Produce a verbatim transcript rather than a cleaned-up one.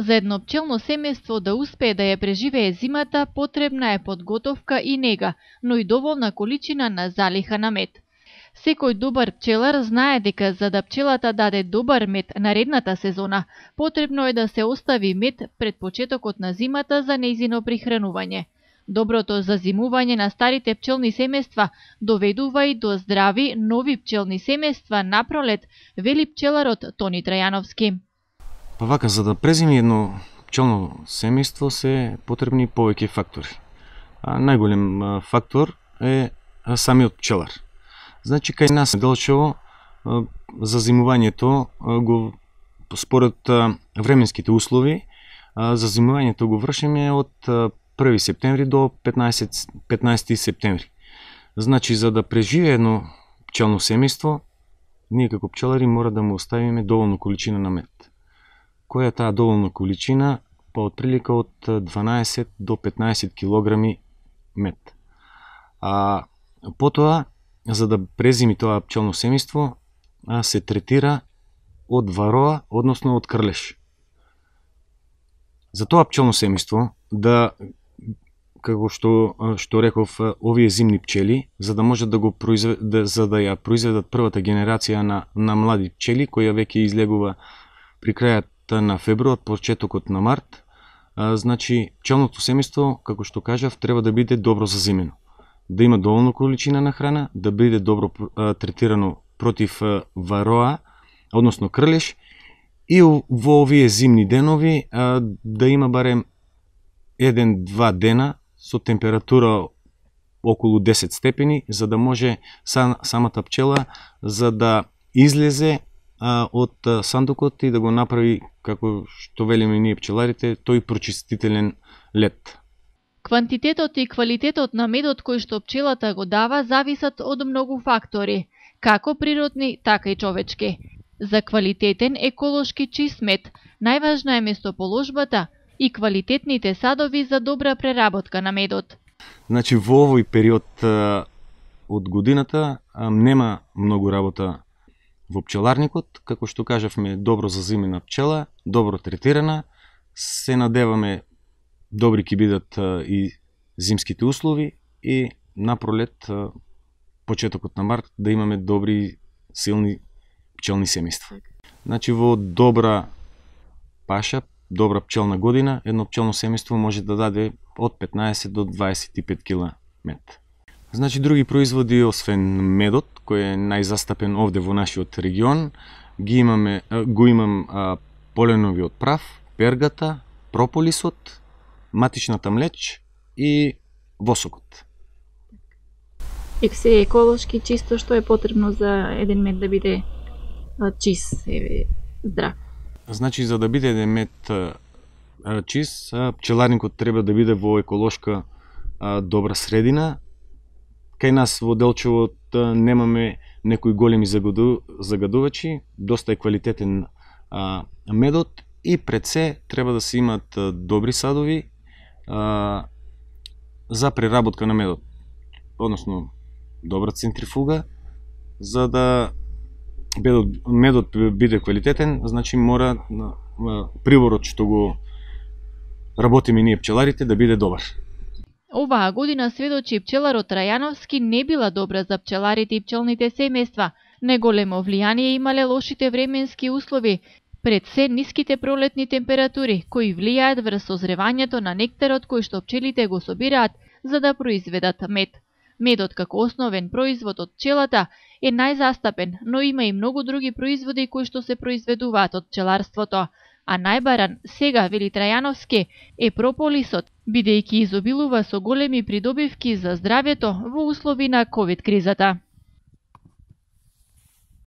За едно пчелно семејство да успее да ја преживее зимата, потребна е подготовка и нега, но и доволна количина на залиха на мед. Секој добар пчелар знае дека за да пчелата даде добар мед наредната сезона, потребно е да се остави мед пред почетокот на зимата за нејзино прихранување. Доброто зазимување на старите пчелни семејства доведува и до здрави, нови пчелни семејства на пролет, вели пчеларот Тони Трајановски. Па вака, за да презими едно пчелно семејство се потребни повеќе фактори. А најголем фактор е самиот пчелар. Значи, кај нас Делчево зазимувањето го според временските услови, зазимувањето го вршиме од први септември до петнаесети септември. Значи, за да преживее едно пчелно семејство, ние како пчелари мора да му оставиме доволно количина на мед. Која е таа доволна количина? Па отприлика од дванаесет до петнаесет килограми мед. А потоа, за да презими тоа пчелно семејство, се третира од вароа, односно од крлеш. За тоа пчелно семејство, да, како што, што реков, овие зимни пчели, за да можат да го произвед, да, за да ја произведат првата генерација на, на млади пчели, која веќе излегува при крајот на февруар, почетокот на март, а, значи пчелното семејство, како што кажав, треба да биде добро зазимено. Да има доволно количина на храна, да биде добро а, третирано против а, вароа, односно крлеш, и во овие зимни денови а, да има барем еден-два дена со температура околу десет степени, за да може сам, самата пчела за да излезе а, од а, сандукот и да го направи, како што велиме ние пчеларите, тој прочистителен лет. Квантитетот и квалитетот на медот кој што пчелата го дава зависат од многу фактори, како природни, така и човечки. За квалитетен, еколошки чист мед, најважна е место-положбата и квалитетните садови за добра преработка на медот. Значи, во овој период а, од годината а, нема многу работа во пчеларникот, како што кажавме, добро зазимена пчела, добро третирана, се надеваме добри ќе бидат а, и зимските услови и на пролет, а, почетокот на март, да имаме добри, силни пчелни семејства. Значи, во добра паша, добра пчелна година, едно пчелно семејство може да даде од петнаесет до дваесет и пет кила мед. Значи, други производи, освен медот, кој е најзастапен овде во нашиот регион, ги имаме, го имам а, поленовиот прав, пергата, прополисот, матичната млеч и восокот. И се еколошки чисто, што е потребно за еден мед да биде чист и здрав? Значи, за да биде еден мед а, чист, пчеларникот треба да биде во еколошка а, добра средина. Кај нас во Делчево немаме некои големи загаду, загадувачи, доста е квалитетен а, медот и пред се треба да се имат а, добри садови а, за преработка на медот, односно добра центрифуга, за да медот, медот биде квалитетен, значи мора а, приворот што го работиме ние пчеларите да биде добар. Оваа година сведочи пчеларот Трајановски не била добра за пчеларите и пчелните семејства. Неголемо влијание имале лошите временски услови, пред се ниските пролетни температури, кои влијаат врз созревањето на нектарот кој што пчелите го собираат за да произведат мед. Медот како основен производ од пчелата е најзастапен, но има и многу други производи кои што се произведуваат од пчеларството. А најбаран сега, вели Трајановски, е прополисот, бидејќи изобилува со големи придобивки за здравјето во услови на ковид кризата.